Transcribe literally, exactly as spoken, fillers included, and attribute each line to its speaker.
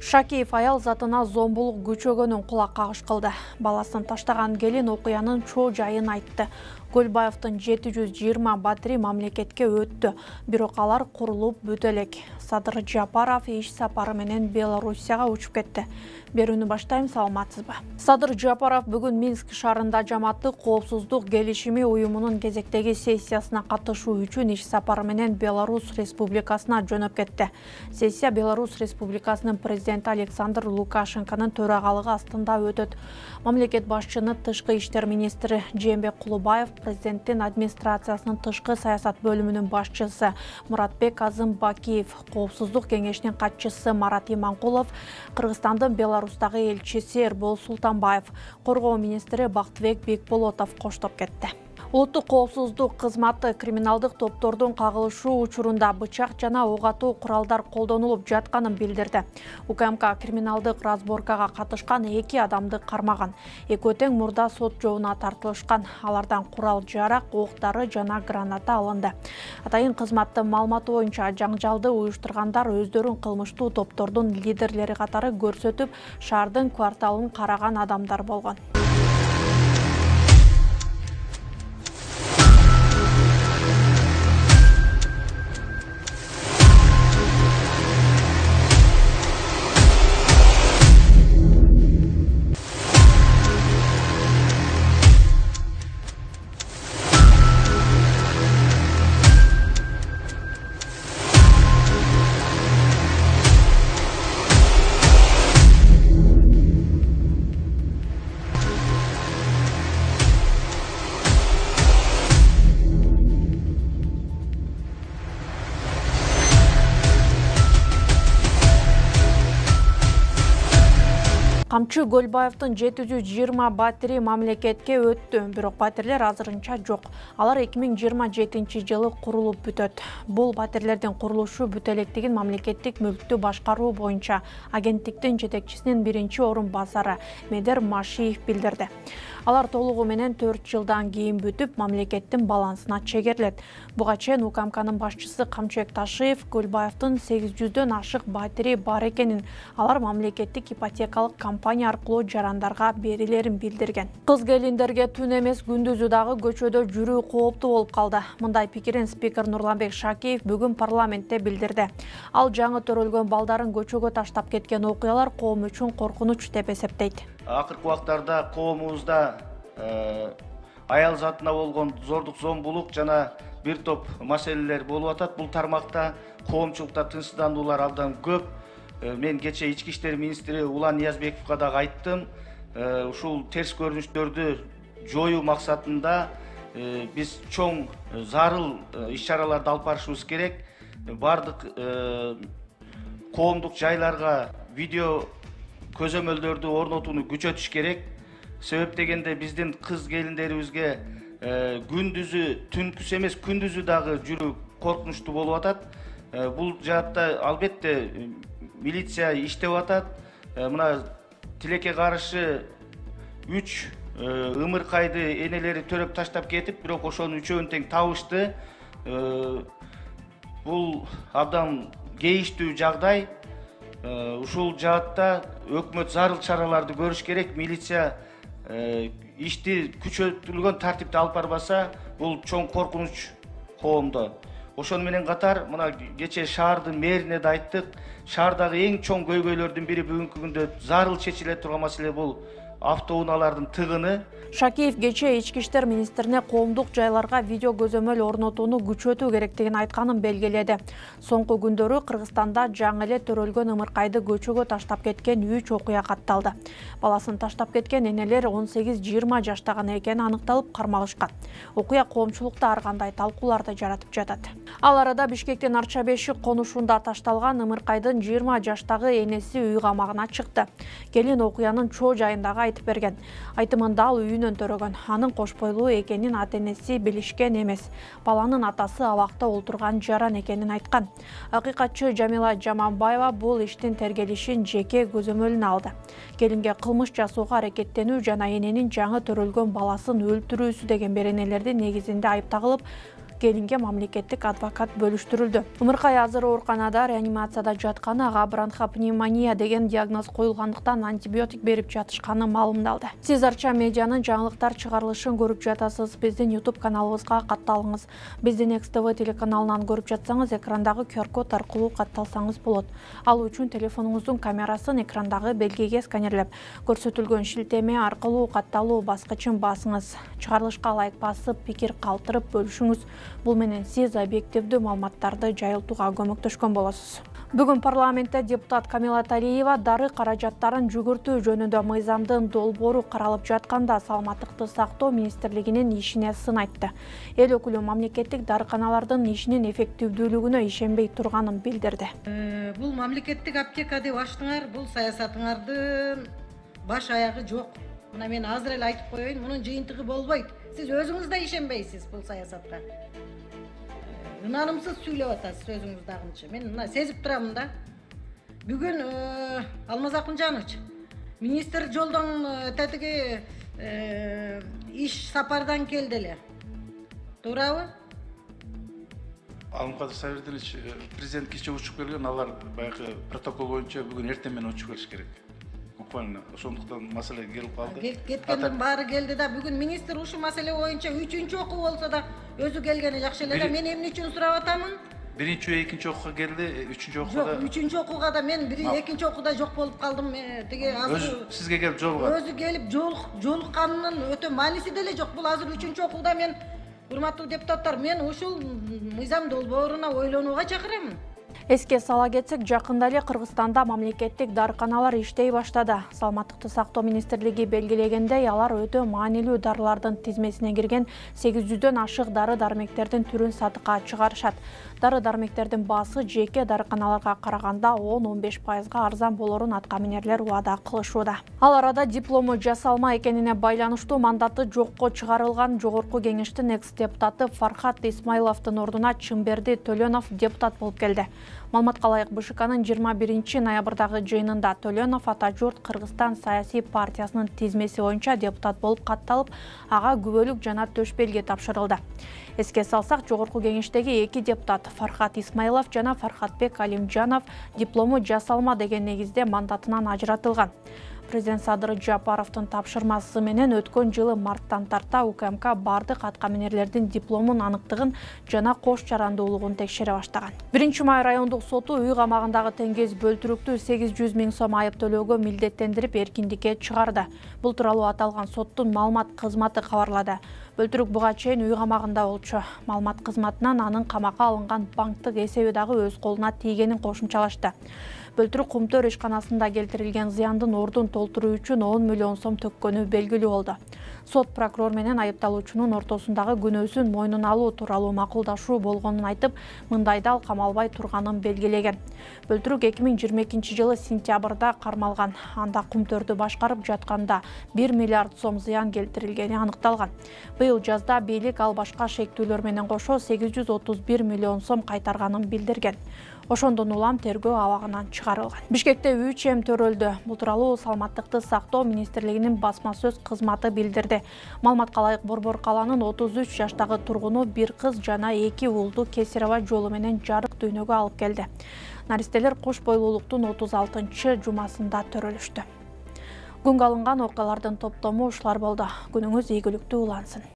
Speaker 1: Шакиев аял затына зомбулук күчөгөнүн кулак кагыш кылды. Баласын таштаган келин окуянын чоо жайын айтты. Көлбаевдин жети жүз жыйырма батири мамлекетке өттү, бирок алар курулуп бүтө элек. Садыр Жапаров иш сапары менен Белоруссияга учуп кетти. Берүүнү баштайм, саламатсызбы? Садыр Жапаров бүгүн Минск шаарында Жамааттык коопсуздук келишими уюмунун кезектеги сессиясына катышуу үчүн иш сапары менен Беларусь Республикасына жөнөп кетти. Сессия Беларусь Республикасынын президенти Александр Лукашенконун төрагалыгы астында өтөт. Мамлекет башчыны тышкы иштер министри Жээнбек Кулубаев, президенттин администрациясынын тышкы саясат бөлүмүнүн башчысы Муратбек Азымбакиев, коопсуздук кеңешинин катчысы Марат Иманкулов, Кыргызстандын Беларустагы элчиси Эрбол Султанбаев, коргоо министри Бактыбек Бекболотов коштоп кетти. Улуттук коопсуздук кызматы криминалдык топтордун кагылышуу учурунда бычак жана ок атуу куралдар колдонулуп жатканын билдирди. УКМК криминалдык разборкага катышкан эки адамды кармаган. Экөө тең мурда сот жообуна тартылышкан. Алардан курал-жарак, оқ-дары жана граната алынды. Атайын кызматтын маалыматы боюнча жаңжалды уюштургандар өздөрүн кылмыштуу топтордун лидерлери катары көрсөтүп, шаардын кварталын караган адамдар болгон. Камчы Көлбаевдин жети жүз жыйырма батири мамлекетке өттү, бирок батирлер азырынча жок. Алар эки миң жыйырма жетинчи жылы курулуп бүтөт. Бул батирлердин курулушу бүтө электигин мамлекеттик мүлктү башкаруу боюнча агенттиктин жетекчисинин биринчи орун басары Медер Машиев билдирди. Алар толугу менен төрт жылдан кийин бүтүп, мамлекеттин балансына чегерилет. Буга чейин УКМКнын башчысы Камчыбек Ташиев Көлбаевдин сегиз жүздөн ашык батири бар экенин, алар мамлекеттик ипотекалык компания аркылуу жарандарга берилерин билдирген. Кыз келиндерге түн эмес күндүзү дагы көчөдө жүрүү кооптуу болуп калды. Мындай пикирин спикер Нурланбек Шакиев бүгүн парламентте билдирди. Ал жаңы төрөлгөн балдарын көчөгө таштап кеткен окуялар коом үчүн коркунуч деп эсептейт.
Speaker 2: Акыркы убактарда коомубузда аял затына болгон зордук зомбулук жана бир топ маселелер болуп атат. Бул тармакта коомчулукта тынчсыздандуулар абдан көп. Мен кече ички иштер министри Улан Ниязбековго дагы айттым. Ушул терс көрүнүштөрдү жоюу максатында биз чоң зарыл иш-чараларды алып барышыбыз керек. Бардык коомдук жайларга видео көзөмөлдөрдү орнотууну күчөтүш керек. Себеп дегенде биздин кыз келиндерибизге күндүзү түнкүсү эмес күндүзү дагы жүрүү коркунучтуу болуп атат. Бул жаатта албетте милиция иштеп атат. Мына тилекке каршы үч ымыркайды энелери төрөп таштап кетип, бирок ошонун үчөөнү тең табышты. Бул абдан кейиштүү жагдай. Ушул жаатта өкмөт зарыл чараларды көрүш керек. Милиция ишти күчөтүлгөн тартипте алып барбаса, бул чоң коркунуч коомдо. Ошону менен катар, мына кече шаардын мэрине да айттык. Шаардагы эң чоң көйгөйлөрдүн бири бүгүнкү күндө зарыл чечиле турган маселе бул автоунаалардын тыгыны.
Speaker 1: Шакиев кече ички иштер министрине коомдук жайларга видео көзөмөл орнотууну күчөтүү керектигин айтканын белгиледи. Соңку күндөрү Кыргызстанда жаңы эле төрөлгөн ымыркайды көчөгө таштап кеткен үч окуя катталды. Баласын таштап кеткен энелер он сегиз жыйырма жаштагы экени аныкталып кармалышкан. Окуя коомчулукта ар кандай талкууларды жаратып жатат. Ал арада Бишкектин Арча-Бешик конушунда ташталган ымыркайдын жыйырма жаштагы энеси үй камагына чыкты. Келин окуянын чоо жайындагы айтып берген. Айтымында ал үйүнөн төрөгөн. Анын кош бойлуу экенин ата-энеси билишкен эмес. Баланын атасы абакта олтурган жаран экенин айткан. Акыйкатчы Жамила Жаманбаева бул иштин тергелишин жеке көзөмөлүнө алды. Келинге кылмыш жасоого аракеттенүү жана эненин жаңы төрөлгөн баласын өлтүрүүсү деген беренелердин негизинде айып тагылып, келинге мамлекеттик адвокат бөлүштүрүлдү. Ымыркай азыр ооруканада реанимацияда жатканы, ага бронхопневмония деген диагноз коюлгандыктан антибиотик берип жатышканы маалымдалды. Сиз Арча медианын жаңылыктар чыгарылышын көрүп жатасыз. Биздин YouTube каналыбызга катталыңыз. Биздин Экс Тэ Вэ телеканалынан көрүп жатсаңыз, экрандагы ку ар код аркылуу катталсаңыз болот. Ал үчүн телефонуңуздун камерасын экрандагы белгиге сканерлеп, көрсөтүлгөн шилтеме аркылуу катталуу баскычын басыңыз. Чыгарылышка лайк басып, пикир калтырып бөлүшүңүз. Бул менен сиз объективдүү маалыматтарды жайылтууга көмөктөшкөн болосуз. Бүгүн парламентте депутат Камила Талиева дары каражаттарын жүгүртүү жөнүндө мыйзамдын долбоору каралып жатканда Саламаттыкты сактоо министрлигинин ишине сын айтты. Эл өкүлү мамлекеттик дарыканалардын ишинин эффективдүүлүгүнө ишенбей турганын билдирди.
Speaker 3: Бул мамлекеттик аптека деп ачтыңар, бул саясатыңардын баш аягы жок. Мына мен азыр эле айтып коеюн, мунун жыйынтыгы болбойт. Сиз өзүңүз да ишенбейсиз бул саясатка. Ынанымсыз сүйлөп атасыз өзүңүздагынча. Мен мына сезип турамын да. Бүгүн Алмаз Акунжанович, министр жолдон тетиги иш сапардан келди эле. Туурабы?
Speaker 4: Алымкадыр Сабирдинович, президент кече учуп келген, алар баягы протокол боюнча бүгүн эртең менен учуп келиш керек. Буквально ошондуктан маселе келип калды.
Speaker 3: Кеткендин баары келди да, бүгүн министр ушул маселе боюнча үчүнчү окуу болсо да өзү келгени жакшы эле да. Мен эмне үчүн сурап атамын?
Speaker 4: Биринчи ve экинчи окууга келди, үчүнчү окууда.
Speaker 3: Жок, үчүнчү окууга да мен бир экинчи окууда жок болуп калдым. Тиги азыр
Speaker 4: өзү сизге келип жолугат.
Speaker 3: Өзү келип жолукканынын өтө мааниси деле жок. Бул азыр үчүнчү окууда мен, урматтуу депутаттар, мен ушул мыйзам долбооруна ойлонууга чакырамын.
Speaker 1: Эске сала кетсек, жакында эле Кыргызстанда мамлекеттик дарыканалар иштей баштады. Саламаттыкты сактоо министрлиги белгилегендей, алар өтө маанилүү дарылардын тизмесине кирген сегиз жүздөн ашык дары-дармектердин түрүн сатыкка чыгарышат. Дары-дармектердин баасы жеке дарыканаларга караганда он он беш пайызга арзан болорун аткаминерлер убада кылышууда. Ал арада диплому жасалма экенине байланыштуу мандаты жокко чыгарылган Жогорку кеңештин экс-депутаты Фархат Исмайловдун ордуна Чымберди Төлөнов депутат болуп келди. Маалыматка ылайык, Бэ Ш Кнын жыйырма биринчи ноябрдагы жыйынында Төлөнов Ата журт Кыргызстан саясий партиясынын тизмеси боюнча депутат болуп катталып, ага күбөлүк жана төш белги тапшырылды. Эске салсак, Жогорку кеңештеги эки депутат Фархат Исмайлов жана Фархатбек Алимжанов диплому жасалма деген негизде мандатынан ажыратылган. Президент Садыр Жапаровдун тапшырмасы менен өткөн жылы марттан тарта У К М К бардык аткаминерлердин дипломун аныктыгын жана кош жарандуулугун текшере баштаган. биринчи май райондук соту үй камагындагы Теңгез Бөлтүрүктү сегиз жүз миң сом айып төлөөгө милдеттендирип эркиндикке чыгарды. Бул тууралуу аталган соттун маалымат кызматы кабарлады. Бөлтүрүк буга чейин үй камагында болчу. Маалымат кызматынан анын камакка алынган банктык эсеби дагы өз колуна тийгенин кошумчалашты. Бөлтүрүк Кумтөр ишканасында келтирилген зыяндын ордун толтуруу үчүн он миллион сом төккөнү белгилүү болду. Сот прокурор менен айыпталуучунун ортосундагы күнөөсүн мойнуна алуу тууралуу макулдашуу болгонун айтып, мындайда ал камалбай турганын белгилеген. Бөлтүрүк эки миң жыйырма экинчи жылы сентябрда кармалган. Анда Кумтөрдү башкарып жатканда бир миллиард сом зыян келтирилгени аныкталган. Быйыл жазда бийлик ал башка шектүүлөр менен кошо сегиз жүз отуз бир миллион сом кайтарганын билдирген. Ошондон улам тергөө абагынан чыгарылган. Бишкекте үч эм төрөлдү. Бул тууралуу Саламаттыкты сактоо министрлигинин басма сөз кызматы билдирди. Маалыматка ылайык, Борбор калаанын отуз үч жаштагы тургуну бир кыз жана эки уулду кесир аба жолу менен жарык дүйнөгө алып келди. Наристелер кош бойлуулуктун отуз алтынчы жумасында төрөлүштү. Күнгө алынган окуялардын топтому ушулар болду. Күнүңүз ийгиликтүү улансын.